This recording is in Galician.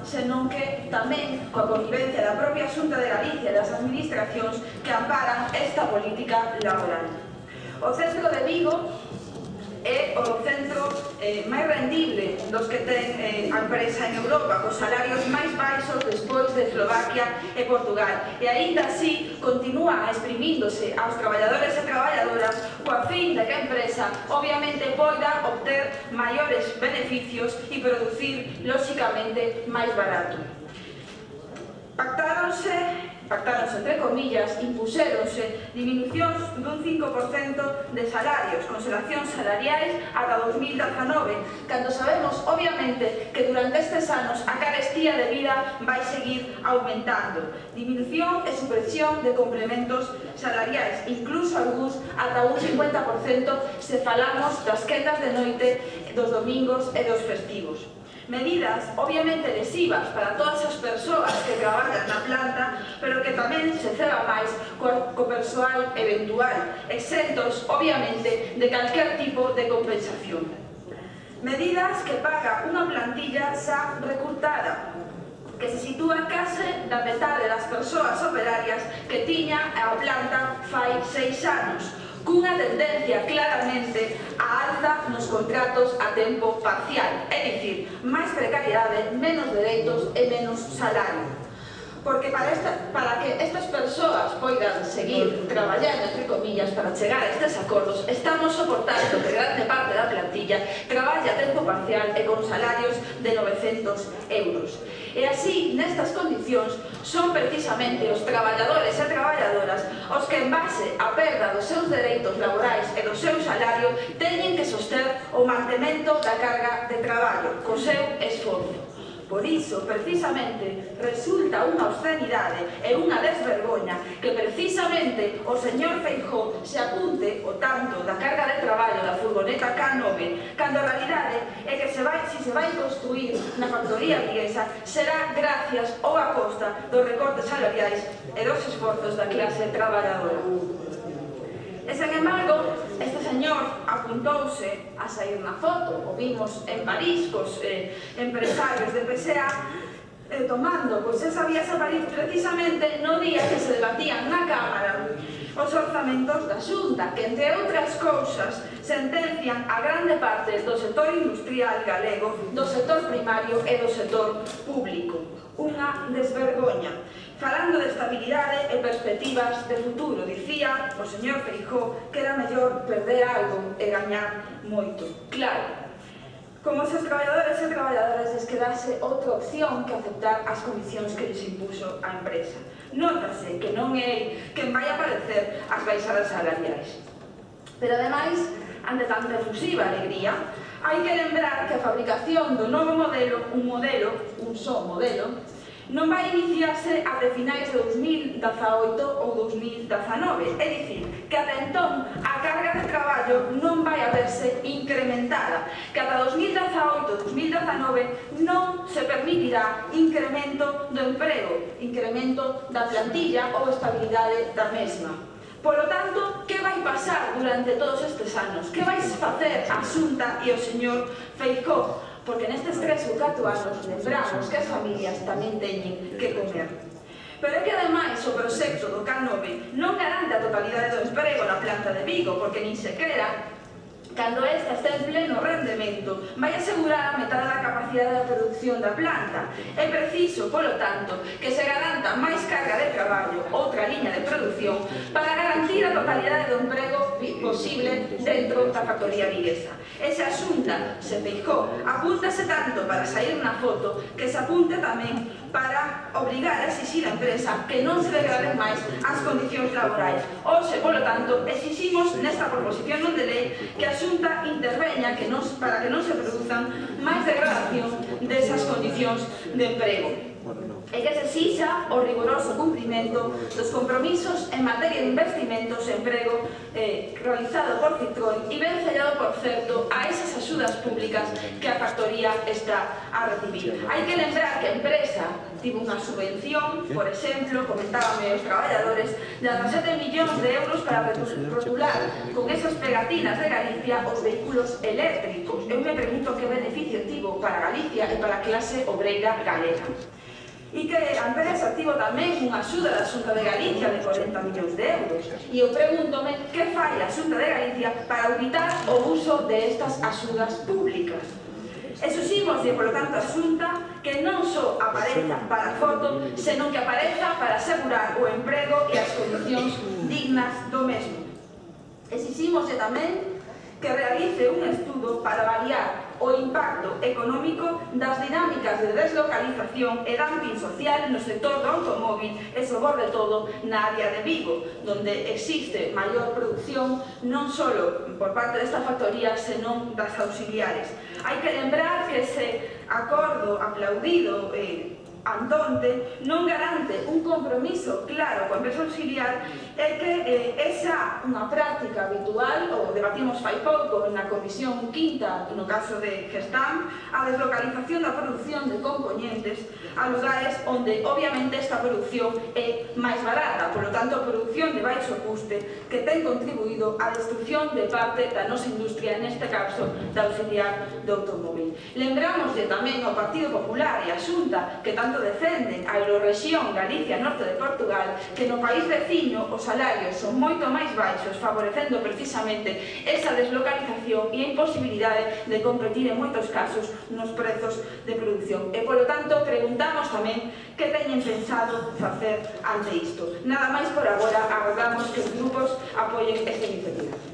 senón que tamén coa connivencia da propia Xunta de Galicia e das administracións que amparan esta política laboral. O centro de Vigo é o centro máis rendible dos que ten a empresa en Europa, cos salarios máis baixos despois de Eslovaquia e Portugal, e aínda así continúa exprimíndose aos traballadores e traballadoras coa fin de que a empresa obviamente poida obter maiores beneficios e producir lóxicamente máis barato. Pactáronse entre comillas, impuséronse diminucións dun 5% de salarios, consolacións salariais ata 2019, cando sabemos, obviamente, que durante estes anos a carestía de vida vai seguir aumentando. Diminución e supresión de complementos salariais, incluso algúns ata un 50% se falamos das quendas de noite, dos domingos e dos festivos. Medidas, obviamente, lesivas para todas as persoas que traballan na planta, pero que tamén se ceba máis co persoal eventual, exentos, obviamente, de calquer tipo de compensación. Medidas que paga unha plantilla xa recrutada, que se sitúa case da metade das persoas operarias que tiña a planta fai 6 anos, cunha tendencia claramente á alza nos contratos a tempo parcial, é dicir, máis precariedade, menos dereitos e menos salario. Porque para que estas persoas poidan seguir traballando, entre comillas, para chegar a estes acordos, estamos soportando que grande parte da plantilla traballe a tempo parcial e con salarios de 900 euros. E así, nestas condicións, son precisamente os traballadores e traballadoras os que, en base á perda dos seus dereitos laborais e do seu salario, teñen que soster o mantemento da carga de traballo, co seu esforzo. Por iso, precisamente, resulta unha obscenidade e unha desvergoña que precisamente o señor Feijóo se apunte o tanto da carga de traballo da furgoneta K9, cando a realidade é que se vai construir na factoría viguesa será gracias ou a costa dos recortes salariais e dos esforzos da clase traballadora. E, sen embargo, este señor apuntouse a sair na foto, o vimos en París cos empresarios de PSA tomando esa vías a París precisamente no día que se debatían na Cámara os orzamentos da Xunta, que, entre outras cousas, sentencian a grande parte do sector industrial galego, do sector primario e do sector público. Unha desvergoña. Falando de estabilidade e perspectivas de futuro, dicía o señor Feijóo que era mellor perder algo e gañar moito. Claro, como se os traballadores e traballadoras les quedase outra opción que aceptar as condicións que lles impuso a empresa. Nótase que non é quen vai aparecer as baixadas salariais. Pero, ademais, ante tanta efusiva alegría, hai que lembrar que a fabricación do novo modelo, un só modelo, non vai iniciarse até finais de 2018 ou 2019, é dicir, que ata entón a carga de traballo non vai a verse incrementada, que ata 2018-2019 non se permitirá incremento do emprego, incremento da plantilla ou estabilidade da mesma. Polo tanto, que vai pasar durante todos estes anos? Que vais facer a Xunta e o señor Feijóo? Porque nestes 3 ou 4 anos lembramos que as familias tamén teñen que comer. Pero é que, ademais, o proxecto do K9 non garante a totalidade do emprego na planta de Vigo, porque nin sequera, cando esta está en pleno rendemento, vai asegurar a metade da capacidade de produción da planta. É preciso, polo tanto, que se garanta máis carga de traballo, outra liña de produción, para garantir a totalidade do emprego posible dentro da factoría viguesa. E se a Xunta se Feijóo apúntase tanto para sair na foto, que se apunte tamén para obrigar a exixir a empresa que non se degraden máis as condicións laborais. Hoxe, polo tanto, exiximos nesta proposición non de lei que a Xunta interveña para que non se produzan máis degradación desas condicións de emprego. e que se exixa o rigoroso cumprimento dos compromisos en materia de investimentos e emprego realizado por Citroën e ben sellado, por certo, a esas axudas públicas que a factoría está a recibir. Hai que lembrar que a empresa tivo unha subvención, por exemplo, comentábame os traballadores, de 17 millóns de euros para rotular con esas pegatinas de Galicia os vehículos eléctricos. Eu me pregunto que beneficio tivo para Galicia e para a clase obreira galega. E que a empresa tivo tamén unha axuda da Xunta de Galicia de 40 millóns de euros. E eu pregúntome que fai a Xunta de Galicia para auditar o uso de estas axudas públicas. Exiximoslle, polo tanto, a Xunta que non só apareza para a foto, senón que apareza para asegurar o emprego e as condicións dignas do mesmo. Exiximoslle tamén que realice un estudo para avaliar o impacto económico das dinámicas de deslocalización e dumping social no sector do automóvil e, sobre todo, na área de Vigo, donde existe maior produción non só por parte desta factoría, senón das auxiliares. Hai que lembrar que ese acordo aplaudido andonte non garante un compromiso claro coa empresa auxiliar e que esa unha práctica habitual, o debatimos fai pouco na comisión quinta, no caso de Gestam, a deslocalización da produción de componentes a lugares onde obviamente esta produción é máis barata, polo tanto produción de baixo custe que ten contribuído á destrucción de parte da nosa industria, neste caso da auxiliar do automóvil. Lembramoslle tamén ao Partido Popular e á Xunta que tanto defenden a Eurorrexión Galicia Norte de Portugal, que no país veciño os salarios son moito máis baixos, favorecendo precisamente esa deslocalización e a imposibilidade de competir en moitos casos nos prezos de produción. E, polo tanto, preguntamos tamén que teñen pensado facer ante isto. Nada máis por agora, agardamos que os grupos apoien esta iniciativa.